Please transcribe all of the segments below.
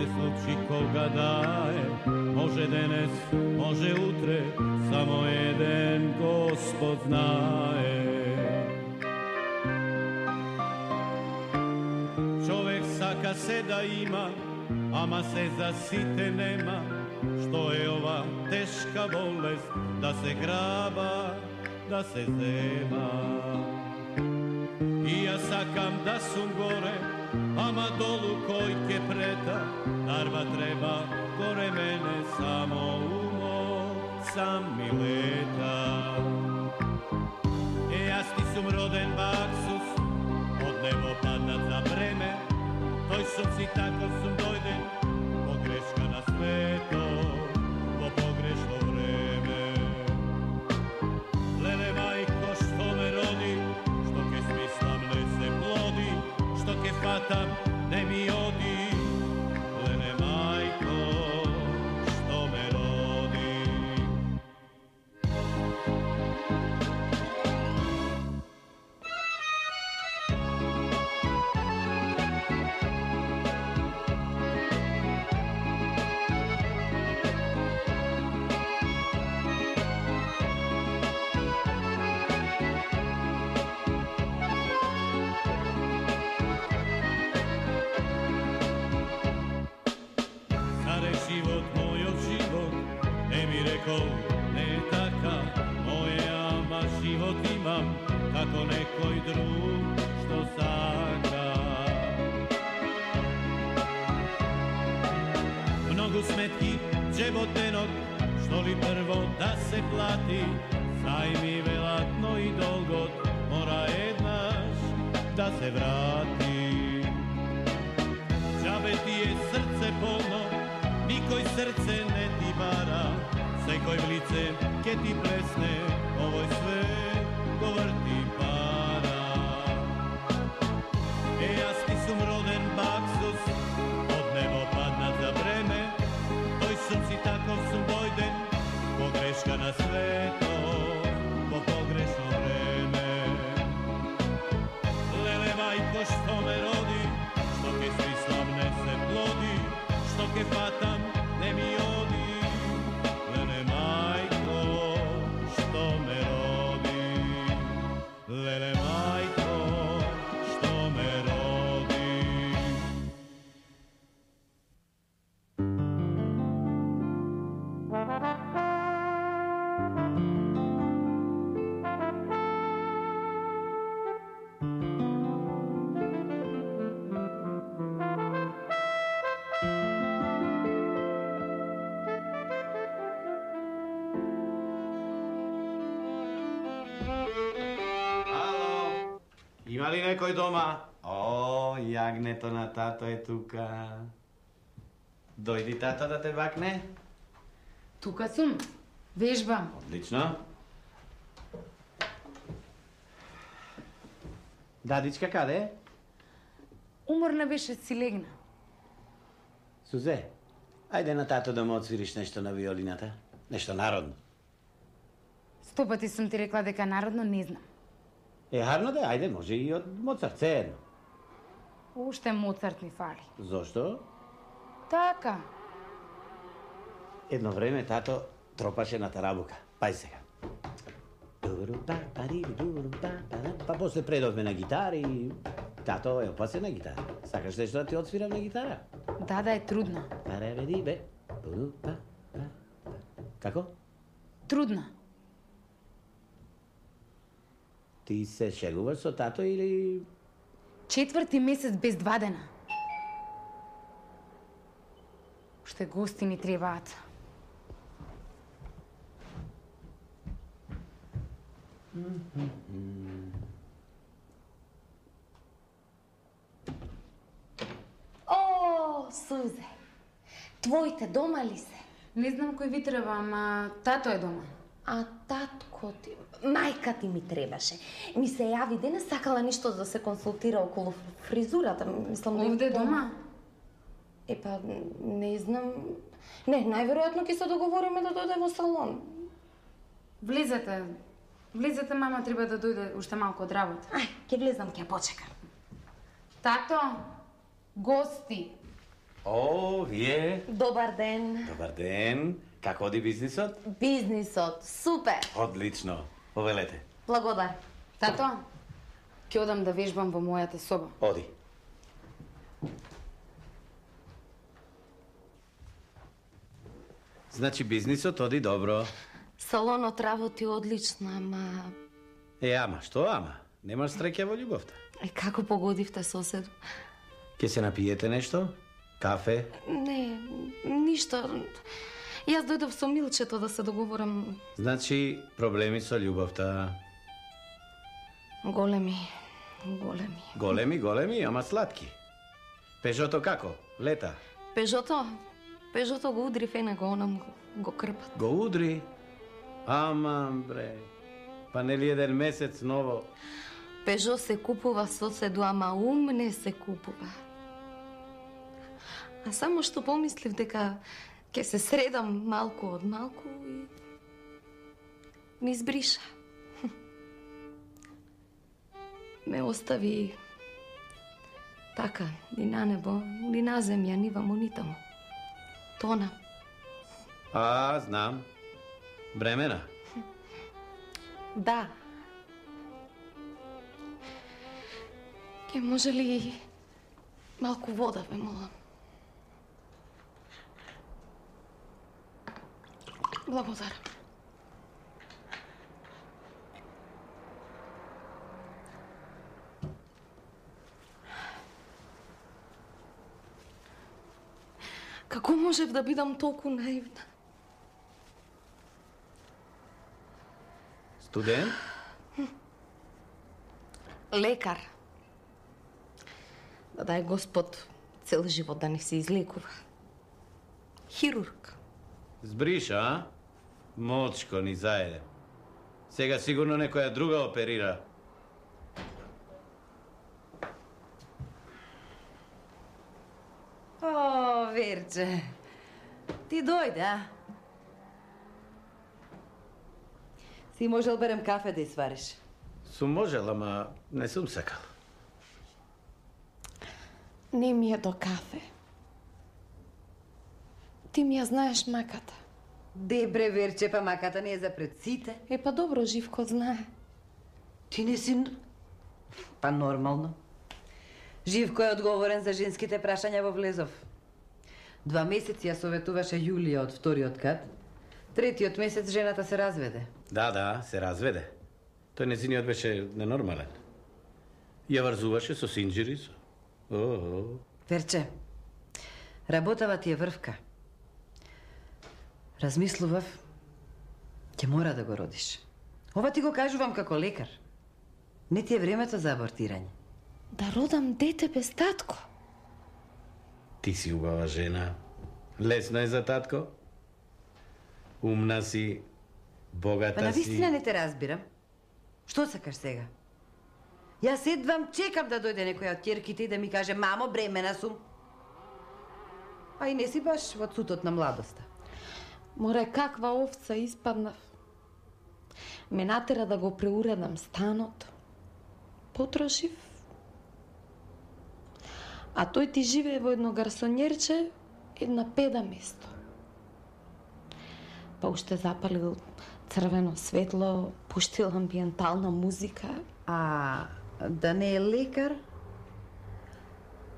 се случи кога да е, може денес, може утре, само еден Господ знае. Човек сака се да има, ама се за сите нема. Што е ова тешка болест, да се граба, да се зема. И јас сакам да сум горе, ама долу кој ке прета, нарва треба горе мене, само умот сам ми лета. Јас ти сум роден баксус, од небо паднат за време, тој сум си таков сум дојден, погрешка на свето, во погрешно време. Леле мајко што ме роди, што ке смислам не се плоди, што ке фатам не ми оди. Леле мајко што ме роди. Живот, мојот живот, не ми рекол, не е така, моје, ама живот имам, како некој друг што сака. Многу сметки, джеботенок, што ли прво да се плати, зајми велат, но и долгот, мора еднаш да се врати. Джабе ти е срце полно, никој срце не ти бара, секој в лице ке ти плесне, овој свет го врти пара. Јас ти сум роден баксус, од небо паднат за време, тој сум си таков сум дојден, погрешка на свето, по погрешно време. Леле мајко што ме роди, што ке смислам не се плоди, што ке фатам не ми оди. Леле мајко што ме роди, леле мајко што ме роди. Има ли некој дома? О, јагнето на тато е тука. Дојди тато да те бакне. Тука сум. Вежбам. Одлично. Дадичка каде? Уморна беше, си легна. Сузе, ајде на тато да му отсвириш нешто на виолината. Нешто народно. 100 пати сум ти рекла дека народно не знам. Харно да, ајде, може и од Моцарт, се едно. Уште Моцарт ми фали. Зошто? Така. Едно време тато тропаше на тарабука. Пај сега. Па после предовме на гитара и тато е опасен на гитара. Сакаш нешто да ти отсвирам на гитара? Да е трудно. Како? Трудно. Ти се шегуваш со тато или... 4 месец без 2 дена. Уште гости ми требаат. О, Сузе, твоите дома ли се? Не знам кој ви треба, ама тато е дома. А татко ти, мајка ти ми требаше. Ми се јави денес, сакала нешто да се консултира околу фризурата. Мислам да Овде дома? Епа, не знам. Не, најверојатно ќе се договориме да дојде во салон. Влезете. Влезете, мама треба да дојде уште малку од работа. Ај, ќе влезам, ќе почекам. Тато, гости. О, вие? Добар ден. Добар ден. Како оди бизнисот? Бизнисот, супер. Одлично. Повелете. Благодар. Тато, ќе одам да вежбам во мојата соба. Оди. Значи бизнисот оди добро. Салонот работи одлично, ама... Ама, што ама? Немаш среќа во љубовта. Како погодивте соседу? Ке се напиете нешто? Кафе? Не, ништо. Јас дојдов со Милчето да се договорам. Значи, проблеми со љубовта. Големи. Големи, ама сладки. Пежото како? Лета? Пежото го удри фенего, онам го крпат. Го удри? Ама, бре. Па нели еден месец ново? Пежо се купува соседу, ама ум не се купува. А само што помислив дека ќе се средам малку од малку и ми избриша. Ме остави така, ни на небо, ни на земја, ни вамо, ни тамо. Тона. Знам. Бремена. Да. Ке може ли малку вода, ве молам? Благодарам. Како можев да бидам толку наивна? Студент? Лекар. Да дај Господ цел живот да не се излекува. Хирург. Збриша, а? Мочко ни заеде. Сега сигурно некоја друга оперира. О, Верче, ти дојде, а? Си можел берем кафе да свариш? Сум можел, ама не сум сакал. Не ми е до кафе. Ти ми ја знаеш маката. Дебре, Верче, па маката не е за пред сите. Па добро, Живко знае. Ти не си... Па нормално. Живко е одговорен за женските прашања во Влезов. 2 месеци ја советуваше Јулија од вториот кат. 3-тиот месец жената се разведе. Да, се разведе. Тој незиниот беше ненормален. Ја врзуваше со синџири. Верче, работава ти е врвка. Размислував, ќе мора да го родиш. Ова ти го кажувам како лекар. Не ти е времето за абортирање. Да родам дете без татко. Ти си убава жена. Лесно е за татко. Умна си, богата Па на си. вистина не те разбирам. Што сакаш сега? Јас едвам чекам да дојде некоја од ќерките и да ми каже: мамо, бремена сум. А и не си баш во цутот на младоста. Море, каква овца испаднав. Ме натера да го преуредам станот. Потрошив. А тој ти живее во едно гарсонјерче, една педа место. Па уште запалил црвено светло, пуштил амбиентална музика. А да не е лекар?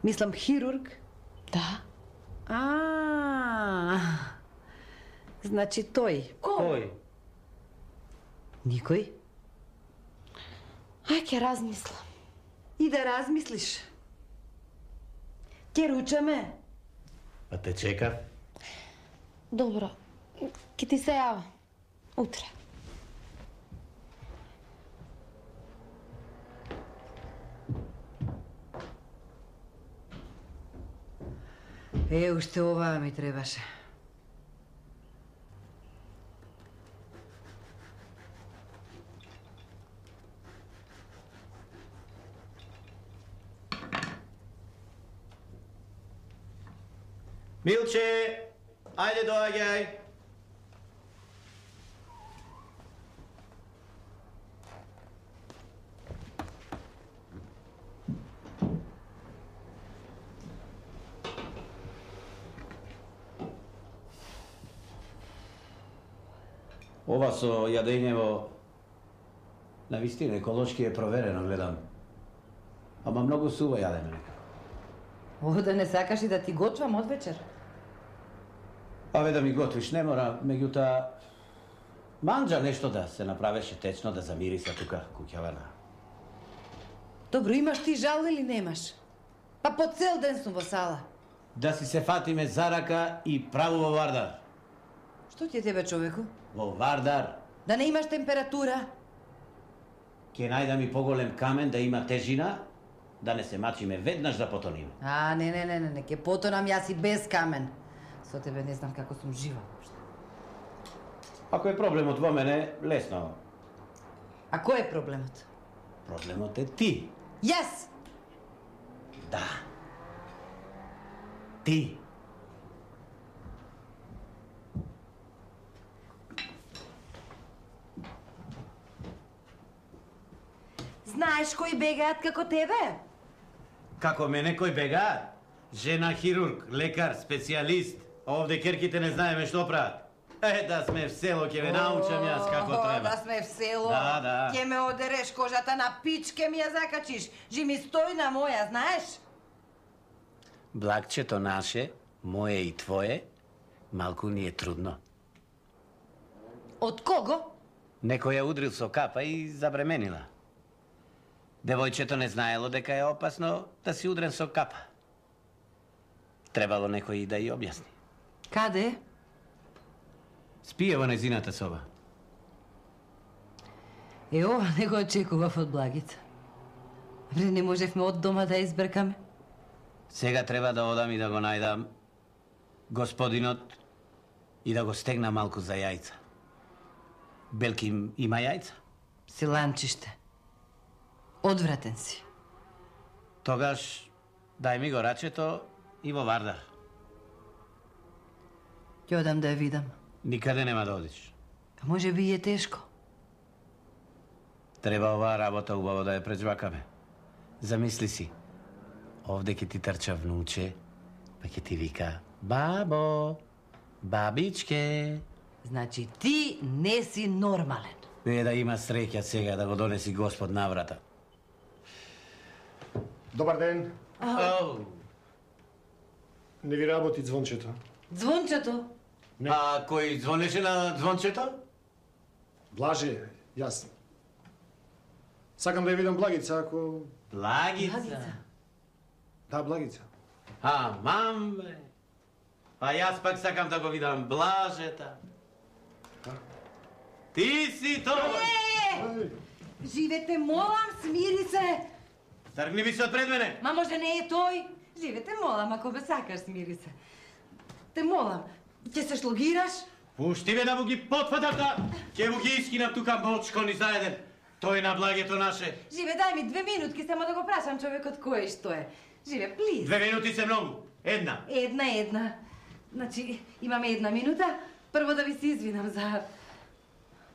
Мислам хирург? Да. Значи тој. Кој? Никој? Ај, ќе размислам. И да размислиш. Ќе ручаме. А те чека? Добро, ќе ти се јава. Утре. Уште оваа ми требаше. Милче, ајде доаѓај. Ова со јадењево на вистина еколошки е проверено, гледам. Ама многу сува јадеме некако. Ово да не сакаш и да ти готвам од вечер? Аве да ми готвиш не мора, меѓутоа манџа нешто да се направеше течно, да замириса тука куќава на. Добро, имаш ти жал или немаш? Па по цел ден сум во сала. Да си се фатиме за рака и право во Вардар. Што ти е тебе, човеку? Во Вардар. Да не имаш температура? Ке најдам и поголем камен да има тежина, да не се мачиме веднаш да потониме. А, не, ке потонам јас и без камен. Со тебе не знам како сум жива. Ако е проблемот во мене, лесно. А кој е проблемот? Проблемот е ти. Јас! Да. Ти. Знаеш кои бегаат како тебе? Како мене кој бегаат? Жена хирург, лекар, специјалист. Овде керките не знаеме што прават. Да сме в село, ќе ве научам јас како треба. Да сме в село. Да. Ќе ме одереш кожата на пичке ми ја закачиш. Жими стои на моја, знаеш? Благчето наше, моje и твое, малку ни е трудно. Од кого? Некој ја удрил со капа и забременила. Девојчето не знаело дека е опасно да си удрен со капа. Требало некој да ја објасни. Каде? Спие во незината соба. Ова не го очекував од Благица. Вре не можевме од дома да избркаме. Сега треба да одам и да го најдам господинот и да го стегна малку за јајца. Белки има јајца? Силанчиште. Одвратен си. Тогаш дај ми го рачето и во Вардар. Ќе одам да ја видам. Никаде нема да одиш. А може би е тешко. Треба оваа работа убаво да ја прежвакаме. Замисли си. Овде ќе ти трча внуче, па ќе ти вика бабо, бабичке. Значи ти не си нормален. Не да има среќа сега да го донеси Господ на врата. Добар ден. Ау. Не ви работи звончето. Звончето? А кој звонеше на звончето? Блаже, јас. Сакам да ја видам Благица, ако... Благица. Да, Благица. Мам, бе. Па јас пак сакам да го видам Блажета. Ти си тој! Живете, молам, смири се! Тргни ми се од пред мене! Ма може не е тој? Живете, молам, ако ме сакаш, смири се. Те молам, ќе се шлогираш? Пушти ме да му ги потфатата! Ќе му ги искинам тука мочко ни заеден. Тој на Благето наше. Живе, дај ми 2 минутки, само да го прашам човекот кој е што е. Живе, плиз. 2 минути се многу. Една. Една. Значи, имаме 1 минута. Прво да ви се извинам за...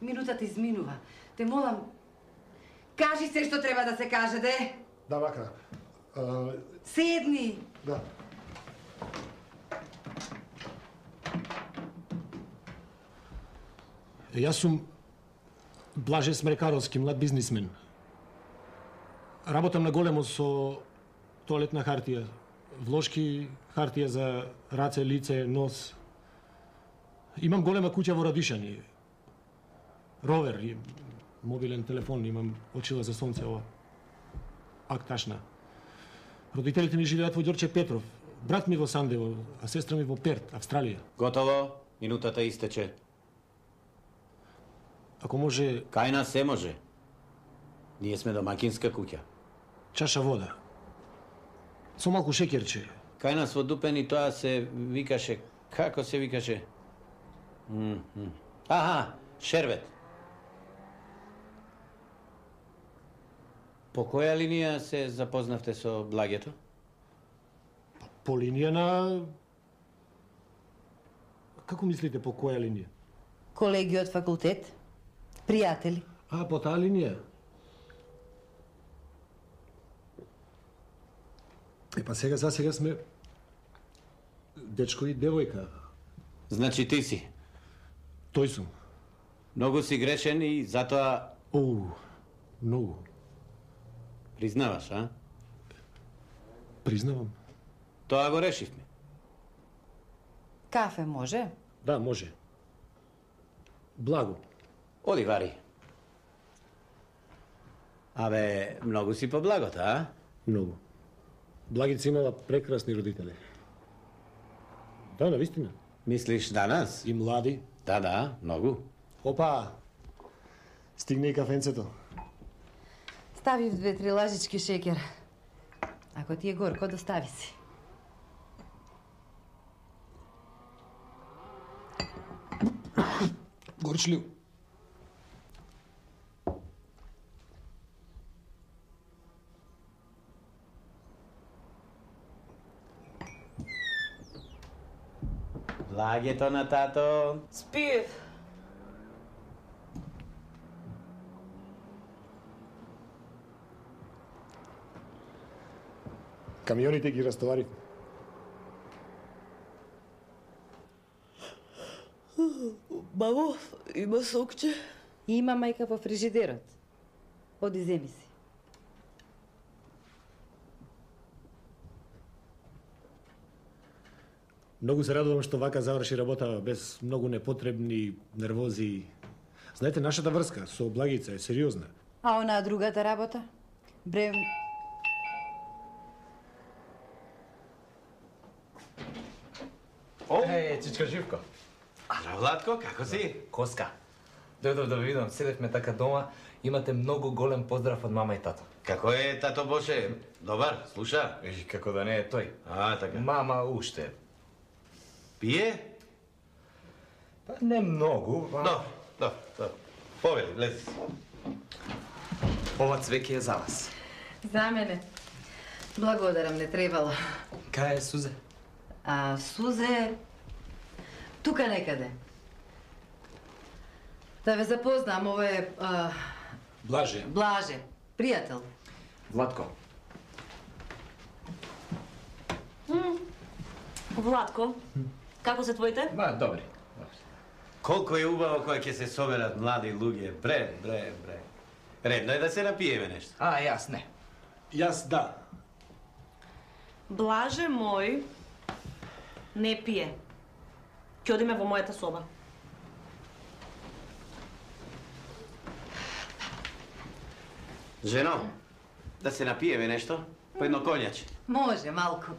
Минутата изминува. Те молам, кажи се што треба да се каже, де. Да, вака. Седни. Да. Јас сум Блаже Смрекаровски, млад бизнисмен. Работам на големо со тоалетна хартија, влошки хартија за раце, лице, нос. Имам голема куќа во Радишани. Ровер и мобилен телефон, имам очила за сонце, ова. Акташна. Родителите ми живеат во Ѓорче Петров. Брат ми во Сандево, а сестра ми во Перт, Австралија. Готово. Минутата истече. Ако може, Кај нас се може. Ние сме домакинска куќа. чаша вода. Со малку шеќерче. Кај нас во Дупени тоа се викаше... Како се викаше? Шербет. По која линија се запознавте со Благето? По линија на... Како мислите по која линија? Колеги од факултет, пријатели. По таа линија? Па сега сме дечко и девојка. Значи ти си. Тој сум. Многу си грешен и затоа Многу. признаваш, а? Признавам. Тоа го решивме. Кафе може? Да, може. Благо. Оди, вари. Абе, многу си по благота, а? Многу. Благица имала прекрасни родители. Да, навистина. Мислиш данас? И млади. Да, многу. Опа! Стигне и кафенцето. Ставив 2-3 лажички шекер. Ако ти е горко, достави си. Горчлив. Благето на тато. Спиев. Камионите ги растоварив. Мамо, има сокче? Има мајка во фрижидерот. Оди земи си. Многу се радувам што вака заврши работа без многу непотребни нервози. Знаете, нашата врска со Благица е сериозна. А онаа другата работа? Бре... Чичка Живко. Здраво, Владко, како си? Коска. Дојдов да ви видам, седевме така дома, имате многу голем поздрав од мама и тато. Како е тато Боше? Добар, слуша? И како да не е тој. Така. Мама уште. Пие? Па не многу. Добро. Повели, влези си. Ова цвеќе е за вас. За мене. Благодарам, не требало. Кај е Сузе? А Сузе... Тука некаде. Да ве запознам, ова е... Блаже. Блаже, пријател. Владко. Владко, како се твоите? Добри. Колко е убаво кога ќе се соберат млади луѓе. Бре. Редно е да се напиеме нешто. Јас не. Јас да. Блаже мој не пие. Ќе одиме во мојата соба. Жено, да се напиеме нешто? По едно конјаче. Може, малку.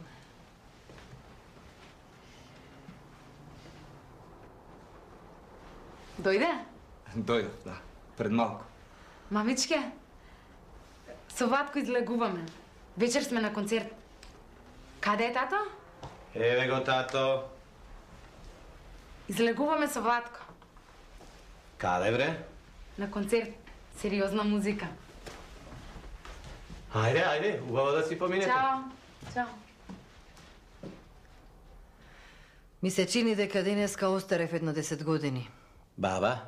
Дојде? Дојдов, да. Пред малку. Мамичке, со Ватко излегуваме. Вечер сме на концерт. Каде е тато? Еве го тато. Излегуваме со Ватко. Каде бре? На концерт. Сериозна музика. Ајде, убаво да си поминете. Чао. Ми се чини дека денеска остарев едно 10 години. Баба?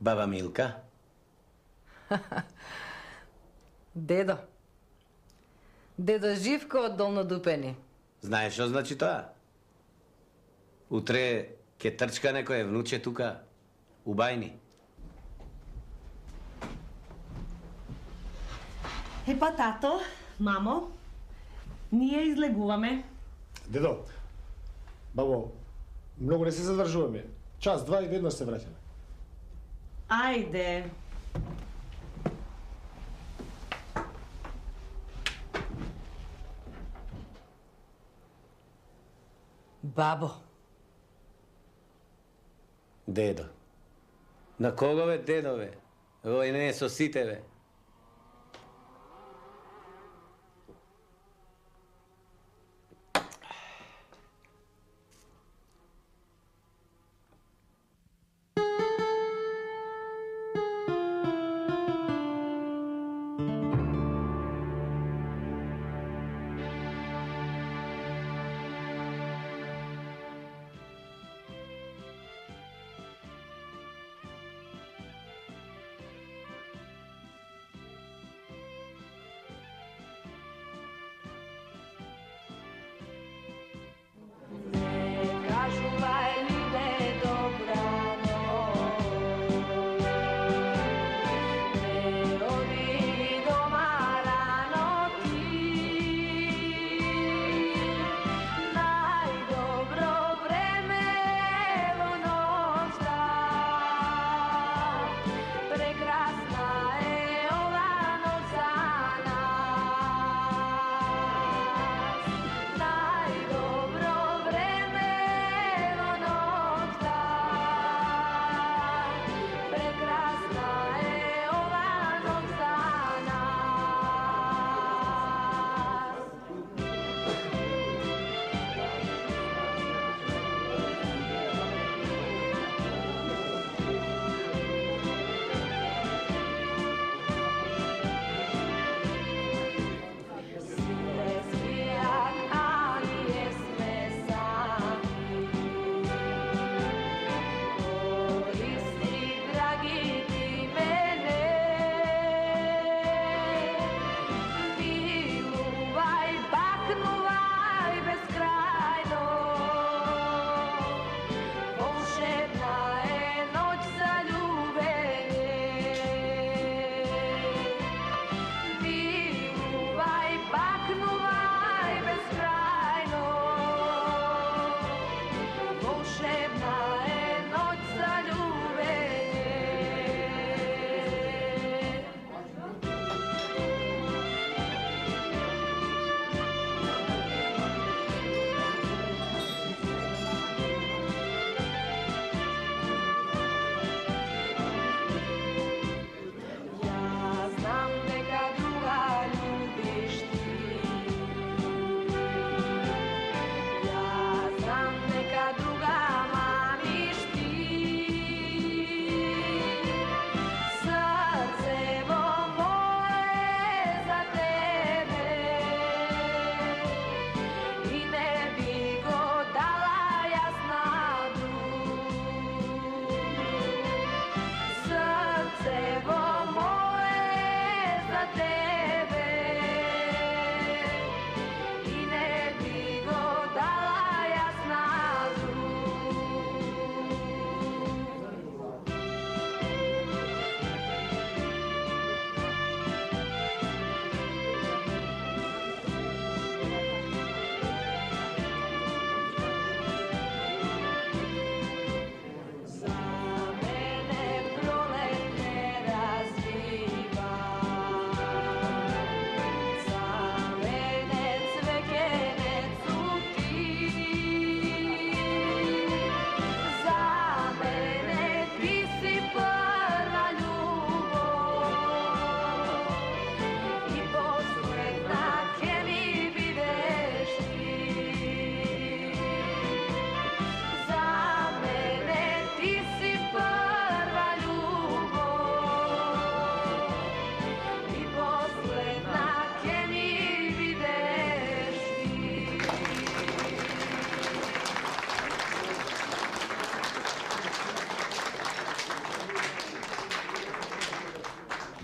Баба Милка? Дедо. Дедо Живко од Долнодупени. Знаеш што значи тоа? Утре ќе трчка некој внуче тука, у бајни. Епа, тато, мамо, ние излегуваме. Дедо, бабо, многу не се задржуваме. Час, два и веднаш се враќаме. Ајде. Бабо. Дедо. На кого бе, дедове? Овој не е со сите, бе.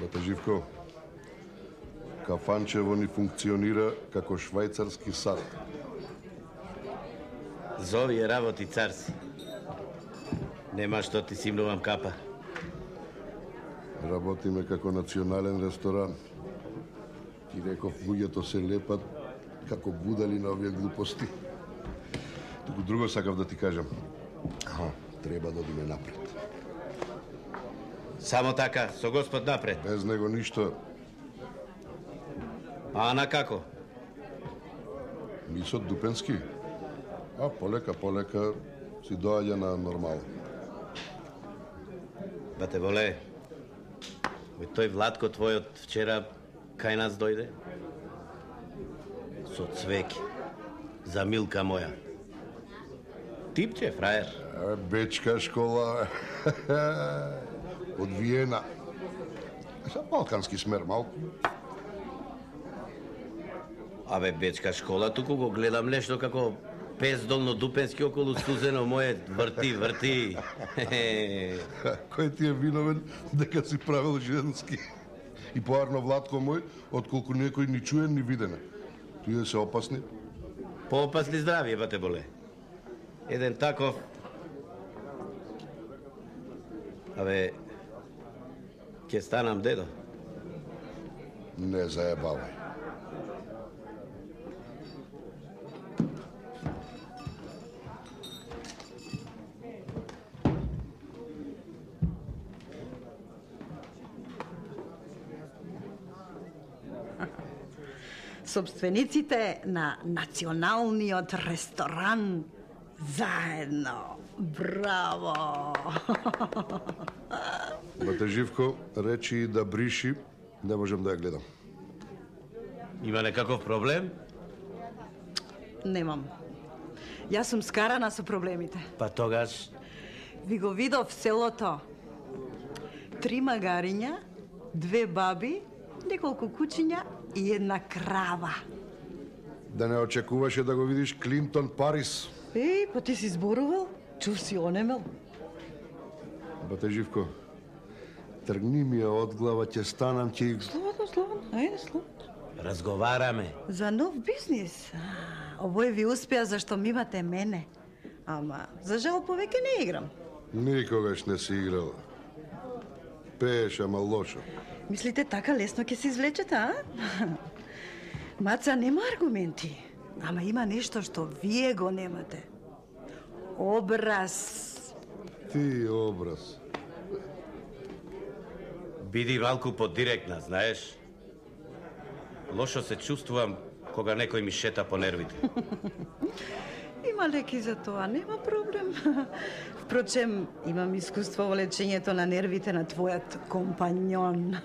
Бате Живко, кафанчево ни функционира како швајцарски сад. Зови е работи, цар си. Нема што ти симнувам капа. Работиме како национален ресторан. Ти реков, луѓето се лепат како будали на овие глупости. Туку друго сакав да ти кажам. Треба да одиме напред. Само така, со Господ напред. Без него ништо. А на како? Мисот Дупенски. Полека си доаѓа на нормал. Бате воле, тој Владко твојот вчера кај нас дојде? Со цвеќе. За Милка моја. Типче, фраер. Бечка школа. Од Виена. Са балкански смер малку. Абе, бечка школа, туку го гледам нешто како пес долнодупенски околу стузено моје врти. Кој ти е виновен дека си правил женски? И поарно Владко мој, отколку некој ни чуен ни видене. Тие се опасни? Поопасни здравие, бате боле. Еден таков... Абе, ќе станам дедо. Не заебавај. собствениците на националниот ресторан заедно. Браво! Бате Живко речи да бриши, не можам да ја гледам. Има некаков проблем? Немам. Јас сум скарана со проблемите. Па тогаш... Ви го видов селото. 3 магариња, 2 баби, неколку кучиња и една крава. Да не очекуваше да го видиш Клинтон Парис. Еј, па ти си зборувал? Чув си онемел? Бате Живко, тргни ми ја од глава, ќе станам, ќе... Слободно, ајде, слободно. Разговараме. За нов бизнис. Овој ви успеа зашто ми имате мене. Ама, за жал, повеќе не играм. Никогаш не си играл. Пееш, ама лошо. Мислите така лесно ќе се извлечете, а? Маца нема аргументи, ама има нешто што вие го немате. Образ. Ти образ. Биди малку подиректна, знаеш? Лошо се чувствувам кога некој ми шета по нервите. Има леки за тоа, нема проблем. Впрочем, имам искуство во лечењето на нервите на твојот компањон.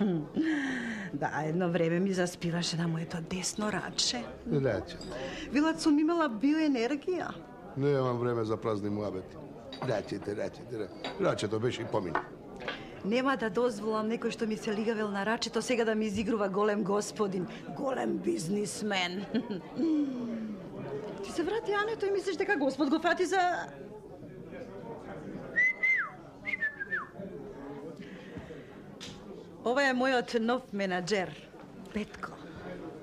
Да, едно време ми заспиваше на моето десно раче. Раче. Велат сум имала биоенергија. Немам време за празни муабети. Рачете. Рачето беше и помина. Нема да дозволам некој што ми се лигавел на рачето сега да ми изигрува голем господин, голем бизнисмен. Ти се врати, Ането, и мислиш дека Господ го фати за... Ова е мојот нов менаџер, Петко.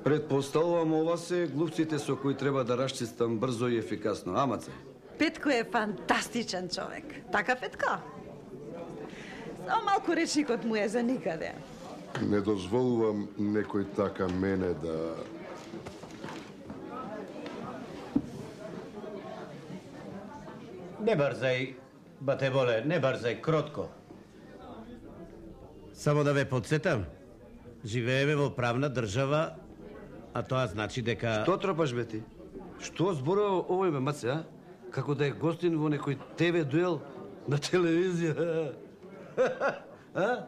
Предпоставувам ова се глупците со кои треба да расчистам брзо и ефикасно. Амаце. Петко е фантастичен човек. Така, Петко? Само малку речникот му е за никаде. Не дозволувам некој така мене да... Не брзај, бате Боле, не брзај, кротко. Само да ве подсетам, живееме во правна држава, а тоа значи дека... Што тропаш, бе ти? Што зборува овој, бе, Маце, а? Како да е гостин во некој ТВ дуел на телевизија. А?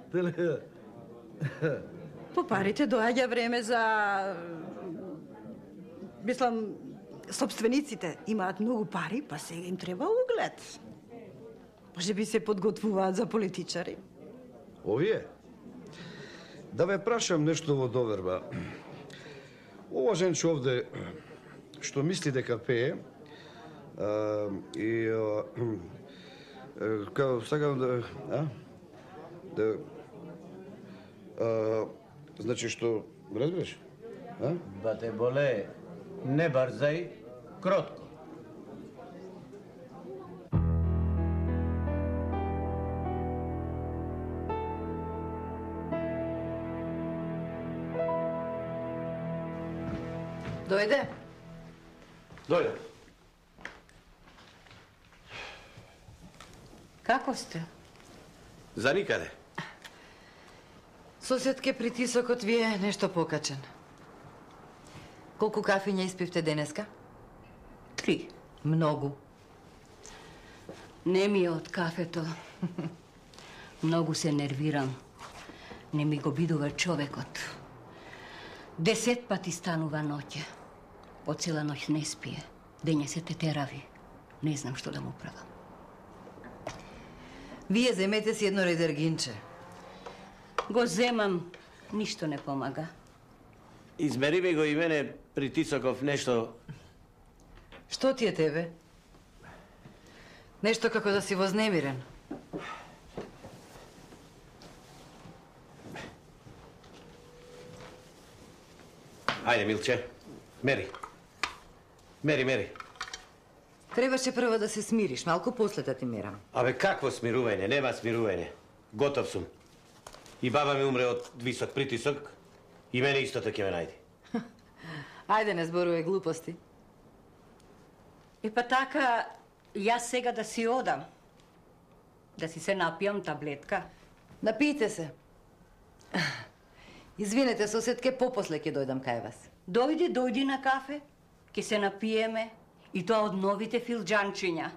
По парите доаѓа време за... Мислам, собствениците имаат многу пари, па сега им треба углед. Може би се подготвуваат за политичари. Овие? Да ве прашам нешто во доверба. Ова женче овде, што мисли дека пее, сакам да... значи што, разбираш? Бате Боле, не брзај, кротко. Дојде? Дојде. Како сте? За никаде. Соседке, притисокот ви е нешто покачен. Колку кафиња испивте денеска? 3. Многу. Не ми е од кафето. Многу се нервирам. Не ми го бидува човекот. 10 пати станува ноќе. По цела ноќ не спие. Дења се тетерави. Не знам што да му правам. Вие земете си едно редергинче. Го земам, ништо не помага. Измери ми го и мене притисоков нешто. Што ти е тебе? Нешто како да си вознемирен. Ајде, Милче, мери. Мери. Требаше прво да се смириш, малку после да ти мерам. Абе, какво смирување? Нема смирување. Готов сум. И баба ми умре од висок притисок, и мене истото ќе ме најди. Ајде, не зборувај глупости. И па така, јас сега да си одам. Да си се напијам таблетка. Напијте се. Извинете, соседке, попосле ќе дојдам кај вас. Дојди на кафе, ќе се напиеме и тоа од новите филџанчиња.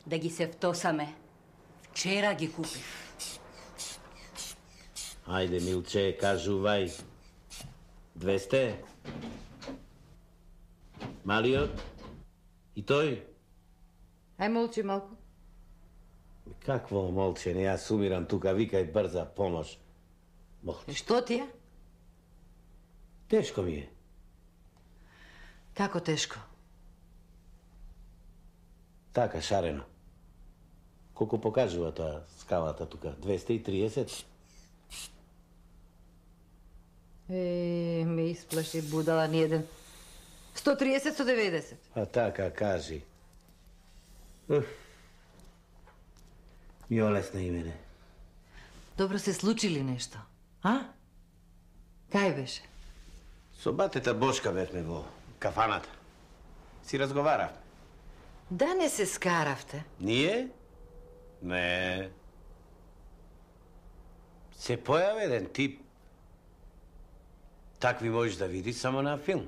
Да ги се втосаме. Вчера ги купив. Ајде, Милче, кажувај. 200? Малиот? И тој? Ај молчи малку. Какво молчење? Јас умирам тука, викај брза помош. Молчи. Што ти е? Тешко ми е. Како тешко? Така, шарено. Колку покажува тоа скалата тука? 230? Ме исплаши будала ни еден. 130, 190. А така, кажи. Ми олесна и мене. Добро се случи ли нешто? А? Кај беше? Со батета Бошка бевме во кафаната. Си разговаравме. Да не се скаравте? Ние? Не. Се појави еден тип. Такви можеш да видиш само на филм.